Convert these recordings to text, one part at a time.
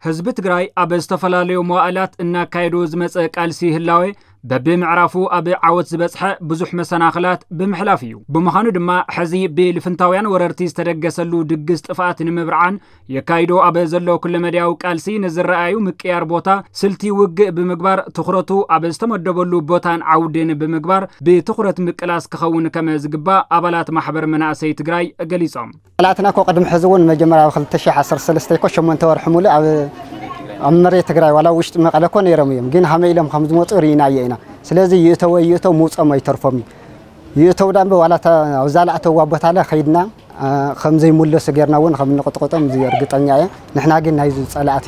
ህዝቢ ትግራይ ኣብ ዝተፈላለዩ መዋእላት እናካየዶ ዝመፀ ቃልሲ ህላዌ በብምዕራፉ ኣብ ዓወት ዝበፅሐ ብዙሕ መሰናኽላት ብምሕላፍ እዩ። ብምዃኑ ድማ ሕዚ ብልፍንታውያን ወረርቲ ዝተደገሰሉ ድግስ ጥፍኣት ንምብርዓን የካይዶ ኣብ ዘሎ ኩለመዳያዊ ቃልሲ ንዝረኣዩ ምቅያር ቦታ ስልቲ ውግእ ብምግባር ትኹረቱ ኣብ ዝተመደበሉ ቦታን ዓውድን ብምግባር ብትኹረት ምቅላስ ክኸውን ከም ዝግባእ ኣባላት ማሕበር መናእሰይ ትግራይ ገሊጾም። ጸላእትና እኮ ቅድሚ ሕዚ እውን መጀመርያ ኣብ ክልተ ሽሕ ዓሰርተ ሰለስተ እኮ ሸሞንተ ወርሒ ሙሉእ ኣብ ኣብ መሬት ትግራይ ዋላ ውሽጢ መቐለ እኮ ነይሮም እዮም። ግን ሃመይ ኢሎም ከም ዝመፁ ርኢናዮ ኢና። ስለዚ ይእተወ ይእተው ምውፀኦም ኣይተርፎም እዩ። ይእተው ዳምበ ዋላ እታ ኣብዛ ላእተዋ ቦታ ለ ከይድና ከም ዘይምለሱ ጌርና እውን ከም እንቕጥቕጦም እዚ እርግጠኛ እየ። ንሕና ግን ናይዚ ጸላእቲ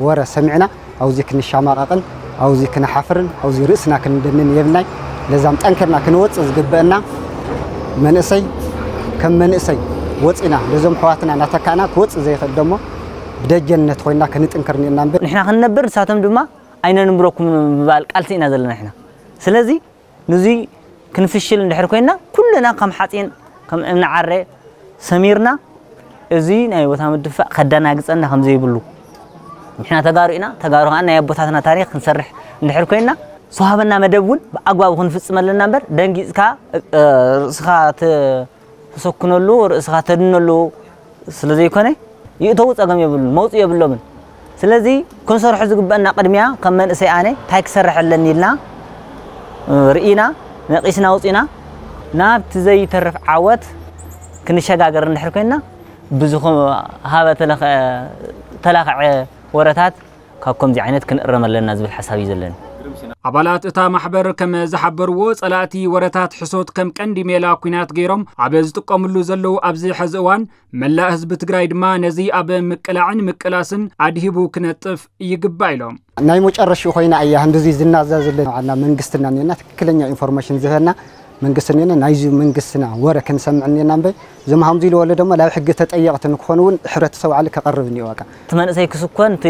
ወረ ሰሚዕና ኣብዚ ክንሻማቐቕን ኣብዚ ክንሓፍርን ኣብዚ ርእስና ክንደንን የብልናይ። ለዛም ጠንክርና ክንወጽእ ዝግበአና መንእሰይ ከም መንእሰይ ወጺና ነዞም ኣሕዋትና እናተካእና ክወጽእ ዘይኽእል ደሞ ብደጀንነት ኮይና ክንጥንክር እኒአና እምበር። ንሕና ክንነብር ንሳቶም ድማ ኣይነንብረኩም ምባል ቃልሲ ኢና ዘለና ንሕና። ስለዚ ንዙይ ክንፍሽል እንድሕር ኮይና ኩልና ከም ሓፂን ከም እምኒ ዓረ ሰሚርና እዚ ናይ ቦታ ምድፋእ ከደናግፀና ከም ዘይብሉ ንሕና ተጋሩ ኢና። ተጋሩ ከዓ ናይ ኣቦታትና ታሪክ ክንሰርሕ እንድሕር ኮይና ዝተዋህበና መደብ እውን ብኣግባቡ ክንፍፅም ኣለና እምበር ደንጊፅካ ርእስኻ ተሰኩነሉ ርእስኻ ተድነሉ ስለ ዘይኮነ ይእተዉ ጸገም የብሉን፣ መውጽኢ የብሎምን። ስለዚ ክንሰርሖ ዝግበአና ቅድሚያ ከም መንእሰይ ኣነ እንታይ ክሰርሕ ኣለኒ ኢልና ርኢና ነቒስና ኣውጺና ናብቲ ዘይተርፍ ዓወት ክንሸጋገር እንድሕር ኮይና ብዝኾ ሃበ ተለኸ- ተላኸዐ ወረታት ካብ ከምዚ ዓይነት ክንእረም ኣለና ዝብል ሓሳብ እዩ ዘለኒ። ኣባላት እታ ማሕበር ከም ዝሓበርዎ ጸላእቲ ወረታት ሕሶት ከም ቀንዲ ሜላ ኲናት ገይሮም ኣብ ዝጥቀምሉ ዘለዉ ኣብዚ ሕዚ እዋን መላእ ህዝቢ ትግራይ ድማ ነዚ ኣብ ምቅላዕን ምቅላስን ኣድሂቡ ክነጥፍ ይግባእ ኢሎም። ናይ መጨረሽኡ ኮይና እያ ህንድዚ ዝናዛ ዘለና ዋና መንግስትና እኒና ትክክለኛ ኢንፎርሜሽን ዝህበና መንግስቲ እኒና ናይዚ መንግስትና ወረ ክንሰምዕ እኒና እምበይ እዞም ሃምዚ ኢሉ ወለ ድማ ናብ ሕጊ ተጠየቕቲ ንክኾኑ እውን ሕብረተሰብ ዓሊ ከቐርብ እኒኦ በቃ። እቲ መንእሰይ ክስኮን እቲ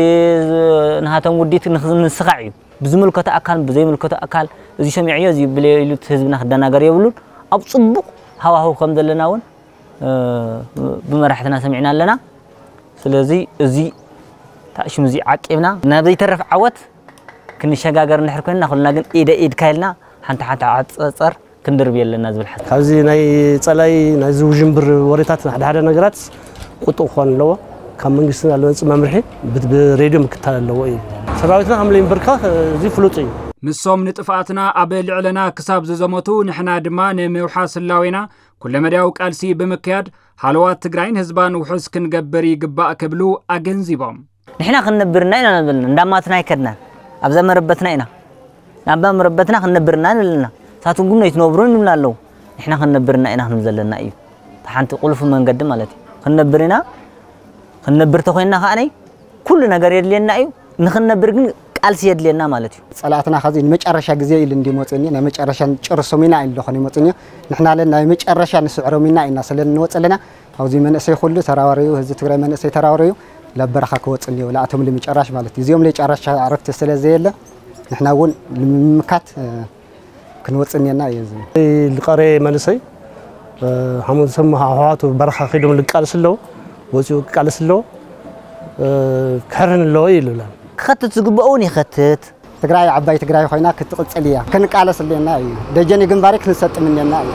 ንሃቶም ውዲት ንስኻዕ እዩ ብዝምልከቶ ኣካል ብዘይምልከቶ ኣካል እዚ ሰሚዕዮ እዚ ብለዮ ኢሉ እቲ ህዝብና ክደናገር የብሉን። ኣብ ፅቡቕ ሃዋህው ከም ዘለና እውን ብመራሕትና ሰሚዕና ኣለና። ስለዚ እዚ ታእሽም እዚ ዓቂብና ናብ ዘይተረፍ ዓወት ክንሸጋገር እንድሕር ኮይንና ኩልና ግን ኢደ ኢድካ ኢልና ሓንቲ ሓንቲ ዓፀፀር ክንድርብ የለና ዝብል ሓሳብ። ካብዚ ናይ ፀላይ ናይዚ ውዥንብር ወሬታት ሓደ ሓደ ነገራት ቁጥብ ክኾን ኣለዎ። ካብ መንግስትና ለመፅእ መምርሒ ብት- ብሬድዮ ምክታል ኣለዎ እዩ። ሰራዊትና ከም ለይንበርካኽ እዚ ፍሉጥ እዩ። ንሶም ንጥፍኣትና ኣብ ልዕለና ክሳብ ዝዘመቱ ንሕና ድማ ንምውሓስ ህላዌና ኩለመዳያዊ ቃልሲ ብምክያድ ሃለዋት ትግራይን ህዝባን ውሑስ ክንገብር ይግባእ ክብሉ ኣገንዚቦም። ንሕና ክንነብርና ኢና ንብልና እንዳማትና ኣይከድናን ኣብዛ መረበትና ኢና ናብዛ መረበትና ክንነብርና ንብልና ሳትኩም ግን ኣይትነብሩን ንብልና ኣለዉ። ንሕና ክንነብርና ኢና ክንብል ዘለና እዩ። እቲ ሓንቲ ቁልፊ መንገዲ ማለት እዩ። ክንነብር ኢና ክንነብር ተኮይንና ከዓነይ ኩሉ ነገር የድልየና እዩ። ንክንነብር ግን ቃልሲ የድልየና ማለት እዩ። ጸላእትና ከዚ ንመጨረሻ ግዜ ኢሉ እንዲመፅኒ ናይ መጨረሻ ንጨርሶም ኢና ኢሉ ኾነ ይመፅኒ። ንሕና ለን ናይ መጨረሻ ንስዕሮም ኢና ኢና ስለ እንወፅ ኣለና። ኣብዚ መንእሰይ ኩሉ ተራዋረዩ ህዝቢ ትግራይ መንእሰይ ተራዋረዩ ላብ በረኻ ክወፅ እኒኦ ላኣቶም ልምጨራሽ ማለት እዩ። እዚኦም ልጨራሽ ዕረፍቲ ስለ ዘየለ ንሕና እውን ንምምካት ክንወፅእ እኒአና እዩ። ዝቐረየ መንእሰይ ሓሙን ሰማ ኣሕዋቱ በረኻ ከይዶም ልቃለስ ኣለዎ ወፂኡ ክቃለስ ኣለዎ ክሕርን ኣለዎ ይልብላ። ክኸትት ዝግብኦ እውን ይኸትት። ትግራይ ዓባይ ትግራይ ኮይና ክትቕፅል እያ። ክንቃለስ ኣለና እዩ። ደጀን ግንባሪ ክንሰጥም እኒአና እዩ።